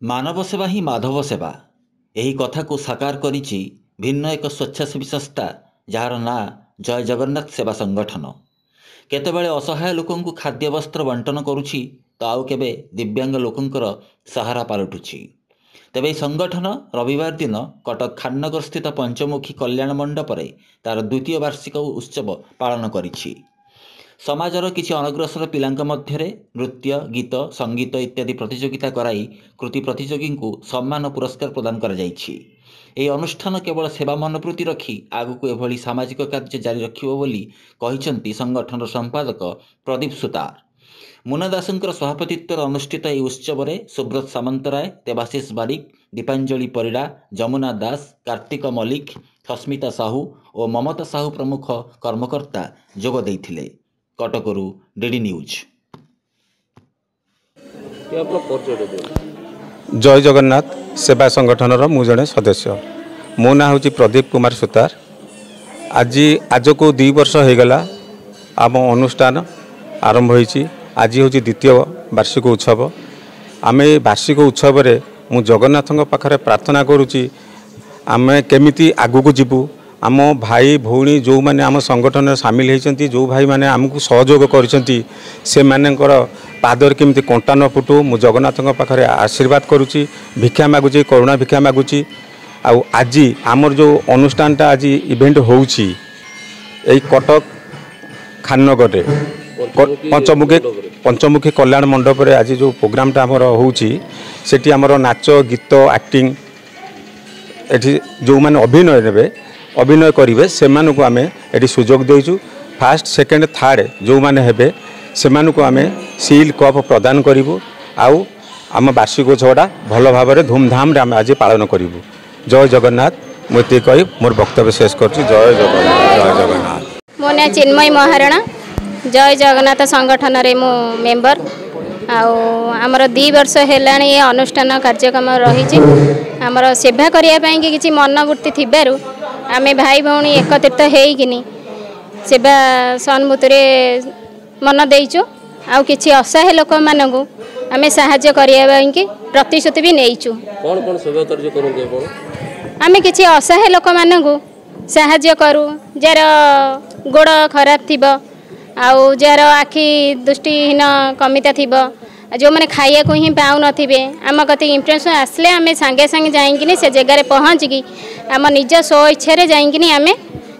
ମାନବ ସେବା ହିଁ ମାଧବ ସେବା, ଏହି କଥାକୁ ସାକାର କରିଛି ଭିନ୍ନ ଏକ ସ୍ୱେଚ୍ଛାସେବୀ ସଂସ୍ଥା, ଯାହାର ନାଁ ଜୟ ଜଗନ୍ନାଥ ସେବା ସଂଗଠନ। କେତେବେଳେ ଅସହାୟ ଲୋକଙ୍କୁ ଖାଦ୍ୟ ବସ୍ତ୍ର ବଣ୍ଟନ କରୁଛି ତ ଆଉ କେବେ ଦିବ୍ୟାଙ୍ଗ ଲୋକଙ୍କର ସାହାରା ପାଲଟୁଛି। ତେବେ ଏହି ସଂଗଠନ ରବିବାର ଦିନ କଟକ ଖାନନଗର ସ୍ଥିତ ପଞ୍ଚମୁଖୀ କଲ୍ୟାଣ ମଣ୍ଡପରେ ତାର ଦ୍ୱିତୀୟ ବାର୍ଷିକ ଉତ୍ସବ ପାଳନ କରିଛି। ସମାଜର କିଛି ଅନଗ୍ରସର ପିଲାଙ୍କ ମଧ୍ୟରେ ନୃତ୍ୟ, ଗୀତ, ସଙ୍ଗୀତ ଇତ୍ୟାଦି ପ୍ରତିଯୋଗିତା କରାଇ କୃତି ପ୍ରତିଯୋଗୀଙ୍କୁ ସମ୍ମାନ ପୁରସ୍କାର ପ୍ରଦାନ କରାଯାଇଛି। ଏହି ଅନୁଷ୍ଠାନ କେବଳ ସେବା ମନୋବୃତ୍ତି ରଖି ଆଗକୁ ଏଭଳି ସାମାଜିକ କାର୍ଯ୍ୟ ଜାରି ରଖିବ ବୋଲି କହିଛନ୍ତି ସଂଗଠନର ସମ୍ପାଦକ ପ୍ରଦୀପ ସୁତାର। ମୁନା ଦାସଙ୍କର ସଭାପତିତ୍ୱରେ ଅନୁଷ୍ଠିତ ଏହି ଉତ୍ସବରେ ସୁବ୍ରତ ସାମନ୍ତରାୟ, ଦେବାଶିଷ ବାରିକ, ଦୀପାଞ୍ଜଳି ପରିଡ଼ା, ଯମୁନା ଦାସ, କାର୍ତ୍ତିକ ମଲ୍ଲିକ, ସସ୍ମିତା ସାହୁ ଓ ମମତା ସାହୁ ପ୍ରମୁଖ କର୍ମକର୍ତ୍ତା ଯୋଗ ଦେଇଥିଲେ। କଟକରୁ ଡିଡି ନ୍ୟୁଜ୍। ଆପଣ ପରିଚୟଟା ଦିଅନ୍ତୁ। ଜୟ ଜଗନ୍ନାଥ ସେବା ସଂଗଠନର ମୁଁ ଜଣେ ସଦସ୍ୟ। ମୋ ନାଁ ହେଉଛି ପ୍ରଦୀପ କୁମାର ସୁତାର। ଆଜକୁ 2 ବର୍ଷ ହୋଇଗଲା ଆମ ଅନୁଷ୍ଠାନ ଆରମ୍ଭ ହୋଇଛି। ଆଜି ହେଉଛି ଦ୍ୱିତୀୟ ବାର୍ଷିକ ଉତ୍ସବ। ଆମେ ଏ ବାର୍ଷିକ ଉତ୍ସବରେ ମୁଁ ଜଗନ୍ନାଥଙ୍କ ପାଖରେ ପ୍ରାର୍ଥନା କରୁଛି, ଆମେ କେମିତି ଆଗକୁ ଯିବୁ। ଆମ ଭାଇ ଭଉଣୀ ଯେଉଁମାନେ ଆମ ସଂଗଠନରେ ସାମିଲ ହୋଇଛନ୍ତି, ଯେଉଁ ଭାଇମାନେ ଆମକୁ ସହଯୋଗ କରିଛନ୍ତି, ସେମାନଙ୍କର ପାଦରେ କେମିତି କଣ୍ଟା ନ ଫୁଟୁ ମୁଁ ଜଗନ୍ନାଥଙ୍କ ପାଖରେ ଆଶୀର୍ବାଦ କରୁଛି, ଭିକ୍ଷା ମାଗୁଛି, କରୁଣା ଭିକ୍ଷା ମାଗୁଛି। ଆଉ ଆଜି ଆମର ଯେଉଁ ଅନୁଷ୍ଠାନଟା ଆଜି ଇଭେଣ୍ଟ ହେଉଛି ଏଇ କଟକ ଖାନନଗରରେ ପଞ୍ଚମୁଖୀ କଲ୍ୟାଣ ମଣ୍ଡପରେ, ଆଜି ଯେଉଁ ପ୍ରୋଗ୍ରାମଟା ଆମର ହେଉଛି ସେଠି ଆମର ନାଚ, ଗୀତ, ଆକ୍ଟିଂ, ଏଠି ଯେଉଁମାନେ ଅଭିନୟ ନେବେ, ଅଭିନୟ କରିବେ, ସେମାନଙ୍କୁ ଆମେ ଏଠି ସୁଯୋଗ ଦେଇଛୁ। ଫାଷ୍ଟ, ସେକେଣ୍ଡ, ଥାର୍ଡ଼ ଯେଉଁମାନେ ହେବେ ସେମାନଙ୍କୁ ଆମେ ସିଲ୍, କପ୍ ପ୍ରଦାନ କରିବୁ। ଆଉ ଆମ ବାର୍ଷିକ ଉତ୍ସବଟା ଭଲ ଭାବରେ ଧୁମଧାମରେ ଆମେ ଆଜି ପାଳନ କରିବୁ। ଜୟ ଜଗନ୍ନାଥ। ମୁଁ ଏତିକି କହି ମୋର ବକ୍ତବ୍ୟ ଶେଷ କରୁଛି। ଜୟ ଜଗନ୍ନାଥ, ଜୟ ଜଗନ୍ନାଥ। ମୋ ନାଁ ଚିନ୍ମୟୀ ମହାରଣା। ଜୟ ଜଗନ୍ନାଥ ସଂଗଠନରେ ମୁଁ ମେମ୍ବର। ଆଉ ଆମର 2 ବର୍ଷ ହେଲାଣି ଏ ଅନୁଷ୍ଠାନ କାର୍ଯ୍ୟକ୍ରମ ରହିଛି। ଆମର ସେବା କରିବା ପାଇଁକି କିଛି ମନୋବୃତ୍ତି ଥିବାରୁ ଆମେ ଭାଇ ଭଉଣୀ ଏକତ୍ରିତ ହେଇକିନି ସେବା ସହାନୁଭୂତିରେ ମନ ଦେଇଛୁ। ଆଉ କିଛି ଅସହାୟ ଲୋକମାନଙ୍କୁ ଆମେ ସାହାଯ୍ୟ କରିବା ପାଇଁକି ପ୍ରତିଶ୍ରୁତି ବି ନେଇଛୁ। କ'ଣ କ'ଣ ସେବା କାର୍ଯ୍ୟ କରନ୍ତି ଆପଣ? ଆମେ କିଛି ଅସହାୟ ଲୋକମାନଙ୍କୁ ସାହାଯ୍ୟ କରୁ, ଯାହାର ଗୋଡ଼ ଖରାପ ଥିବ, ଆଉ ଯାହାର ଆଖି ଦୃଷ୍ଟିହୀନ କମିତା ଥିବ, ଯେଉଁମାନେ ଖାଇବାକୁ ହିଁ ପାଉନଥିବେ। ଆମ କତିକି ଇନଫର୍ମେସନ୍ ଆସିଲେ ଆମେ ସାଙ୍ଗେ ସାଙ୍ଗେ ଯାଇକିନି ସେ ଜାଗାରେ ପହଞ୍ଚିକି ଆମ ନିଜ ସ୍ୱ ଇଚ୍ଛାରେ ଯାଇକିନି ଆମେ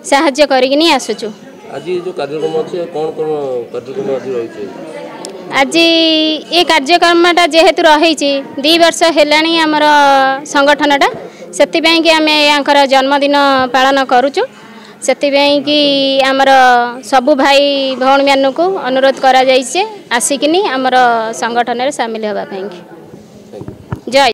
ସାହାଯ୍ୟ କରିକିନି ଆସୁଛୁ। ଆଜି ଯେଉଁ କାର୍ଯ୍ୟକ୍ରମ ଅଛି, କ'ଣ କ'ଣ କାର୍ଯ୍ୟକ୍ରମ ଆଜି ରହିଛି? ଆଜି ଏ କାର୍ଯ୍ୟକ୍ରମଟା ଯେହେତୁ ରହିଛି, 2 ବର୍ଷ ହେଲାଣି ଆମର ସଂଗଠନଟା, ସେଥିପାଇଁକି ଆମେ ୟାଙ୍କର ଜନ୍ମଦିନ ପାଳନ କରୁଛୁ। ସେଥିପାଇଁକି ଆମର ସବୁ ଭାଇ ଭଉଣୀମାନଙ୍କୁ ଅନୁରୋଧ କରାଯାଇଛି ଆସିକିନି ଆମର ସଂଗଠନରେ ସାମିଲ ହେବା ପାଇଁକି। ଜୟ